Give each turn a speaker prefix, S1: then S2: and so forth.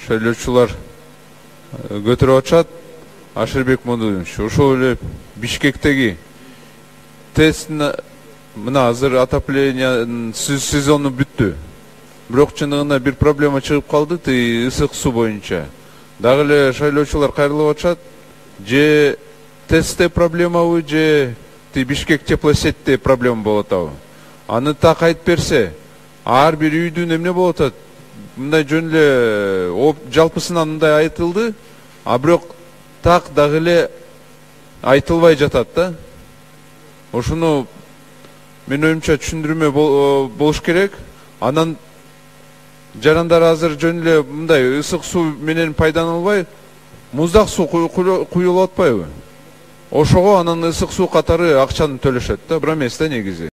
S1: шайлоочулар көтөрүп атышат. Ашырбек Модунович, ошол эле Бишкектеги ТЭС мына азыр отопление сезону бүттү. Бирок чындыгында бир проблема чыгып калды, ысык суу боюнча. Дагы эле шайлоочулар кайрылып атышат. Же ТЭСте проблемабы, же Бишкек теплосетте проблема болуп атабы? Аны так айтып берсе, ар бир үйдүн эмне болуп атат? Мындай жөн эле жалпысынан мындай айтылды, а бирок так дагы эле айтылбай жатат да. Ошону мен оюмча түшүндүрмө болуш керек. Анан жарандар азыр жөн эле мындай ысык суу менен пайдаланылбай, муздак суу куюлуп атпайбы? Ошого анан ысык суу катары акчаны төлөшөт да, бир эмес да негизи.